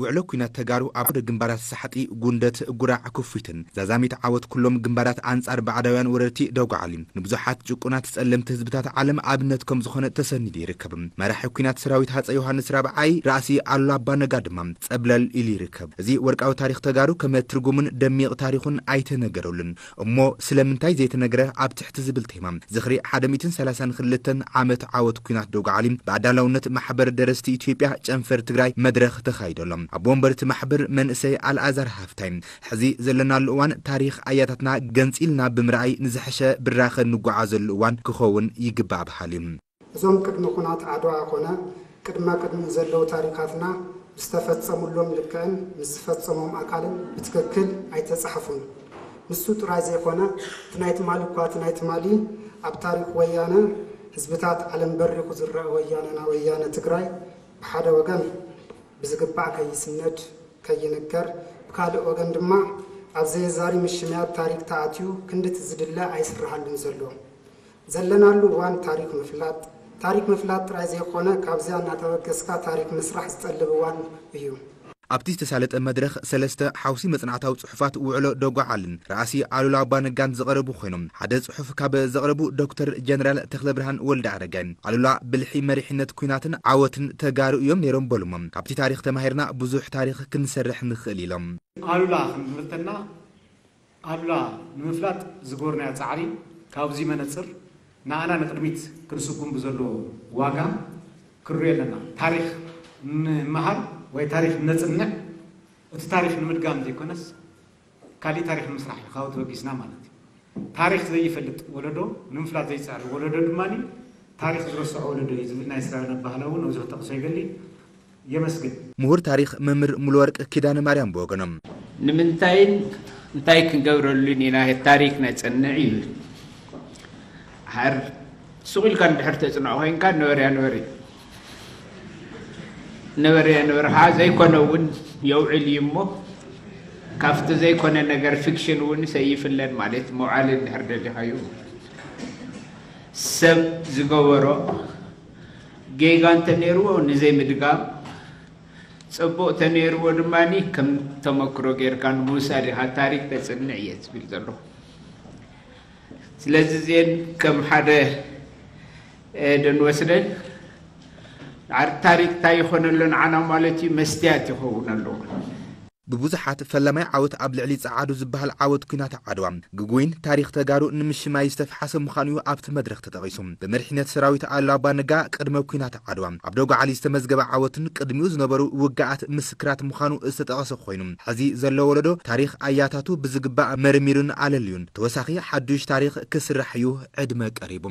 ውዕሎ ኲናት ተጋሩ ኣብ ዓውደ ግንባራት ሳሕጢ፣ ጉንደት፣ ጉራዕ፣ ኩፊትን ዛዛሚት ዓወት ኩሎም ግንባራት ኣንጻር ባዕዳውያን ወረርቲ ደጉዓሊ ንብዙሓት ጭቁናት ጸለምቲ ህዝብታት ዓለም ኣብነት ከም ዝኾነ ተሰኒዱ ይርከብ። መራሒ ኲናት ሰራዊት ሃጸይ ዮሃንስ ራብዓይ ራእሲ ኣሉላ ኣባነጋ ድማ ጸብለል ኢሉ ይርከብ። እዚ ወርቃዊ ታሪኽ ተጋሩ ከመ ትርጉሙን ደሚቕ ታሪኹን ኣይተነገረሉን። እሞ ስለምንታይ ዘይተነግረ ኣብ ትሕቲ ዝብል ቴማ ዝኽሪ ሓደ ሚእትን ሰላሳን ክልተን ዓመት ዓወት ኲናት ደጉዓሊ ብኣዳላውነት ማሕበር ደረስቲ ኢትዮጵያ ጨንፈር ትግራይ መድረኽ ተኻይደሎም። ኣብ ወንበርቲ ማሕበር መንእሰይ ኣልኣዛር ሃፍታይ ሕዚ ዘለናሉ እዋን ታሪኽ ኣያታትና ገንፂልና ብምርኣይ ንዝሐሸ ብራኸ እንጓዓዘሉ እዋን ክኸውን ይግባእ በሃሊ እዩ። እዞም ቅድሚ ኹናት ዓድዋ ኮነ ቅድመ ቅድሚኡ ዘለዉ ታሪካትና ብዝተፈጸሙሎም ልክዕን ምስ ዝፈጸሞም ኣካልን ብትክክል ኣይተጻሕፉን። ንሱ ጥራይ ዘይኮነ እቲ ናይ ትማሊ እኳ እቲ ናይ ትማሊ ኣብ ታሪክ ወያነ ህዝብታት ዓለም በሪኹ ዝረአ ወያነና ወያነ ትግራይ ብሓደ ወገን ብዝግባእ ከይስነድ ከይንገር ብካልእ ወገን ድማ ኣብ ዘየዛሪ ምሽምያት ታሪክ ተኣትዩ ክንድቲ ዝድለ ኣይስረሃሉን ዘሎ። ዘለናሉ እዋን ታሪክ ምፍላጥ፣ ታሪክ ምፍላጥ ጥራይ ዘይኮነ ካብዚኣ እናተበገስካ ታሪክ ምስራሕ ዝጠልብ እዋን እዩ። ኣብቲ ዝተሳለጠ መድረኽ ሰለስተ ሓውሲ መጽናዕታዊ ጽሑፋት ውዕሎ ደጓዓልን ራእሲ ኣሉላ ኣባነጋን ዝቐረቡ ኮይኖም ሓደ ጽሑፍ ካብ ዘቕረቡ ዶክተር ጀነራል ተኽለብርሃን ወልደ ኣረጋይ ኣሉላ ብልሒ መሪሕነት ኲናትን ዓወትን ተጋሩ እዮም ነይሮም በሉሞ። ካብቲ ታሪኽ ተማሂርና ብዙሕ ታሪኽ ክንሰርሕ ንኽእል ኢሎም። ኣሉላ ክንብርተና ኣሉላ ንምፍላጥ ዝገበርናዮ ጻዕሪ ካብዚ መነጽር ንኣና ንቕድሚት ክንስጉም ብዘለዎ ዋጋ ክንሪኦ ኣለና። ታሪኽ ንምሃር ወይ ታሪኽ ነጽንዕ እቲ ታሪኽ ንምድጋም ዘይኮነስ ካሊእ ታሪኽ ንምስራሕ እዩ ካብኡ ተበጊስና ማለት እዩ። ታሪኽ ዘይፈልጥ ወለዶ ንምፍላጥ ዘይጽዕር ወለዶ ድማ ታሪኽ ዝረስዖ ወለዶ እዩ ዝብል ናይ ስራዊን ኣባህላ እውን ኣብዚ ክጠቕሶ ይደሊ። የመስግን። ምሁር ታሪኽ መምህር ሙሉወርቅ ኪዳነ ማርያም ብወገኖም። ንምንታይን እንታይ ክንገብረሉን ኢና ታሪኽ ነጽንዕ ይብል። ሓር ሱቕ ኢልካ እንድሕር ተጽንዖ ኮይንካ ነበርያ ነበሪ ነበርያ ነበርኻ ዘይኮነ እውን የውዕል እዩ እሞ ካብቲ ዘይኮነ ነገር ፊክሽን እውን ሰይፍለን ማለት መውዓሊ እንድሕር ደሊኻዩ ሰብ ዝገበሮ ጌጋ እንተነይርዎ ንዘይምድጋም፣ ጽቡቕ ተነይርዎ ድማ ከም ተመክሮ ጌርካ ንምውሳድ ኢኻ ታሪክ ተጽንዕ እየ ዝብል ዘለኹ። ስለዚ እዚአን ከም ሓደ ደንወስደን ታሪክ እንታይ ይኾነሎ ንዓና ማለት እዩ መስትያት ይኸውን ኣለዎ። ብብዙሓት ፈላማይ ዓወት ኣብ ልዕሊ ጸዓዱ ዝበሃል ዓወት ኲናት ዓድዋ ግጉይን ታሪኽ ተጋሩ ንምሽማይ ዝተፍሓሰ ምዃኑ እዩ ኣብቲ መድረኽ ተጠቒሱ። ብመሪሕነት ሰራዊት ኣሉላ ኣባ ነጋ ቅድመ ኲናት ዓድዋ ኣብ ደጉዓሊ ዝተመዝገበ ዓወትን ቅድሚኡ ዝነበሩ ውግኣት ምስክራት ምዃኑ ዝተጠቐሰ ኮይኑ፣ ሕዚ ዘሎ ወለዶ ታሪኽ ኣያታቱ ብዝግባእ መርሚሩን ኣለልዩን ተወሳኺ ሓዱሽ ታሪኽ ክስራሕ እዩ ዕድመ ቀሪቡ።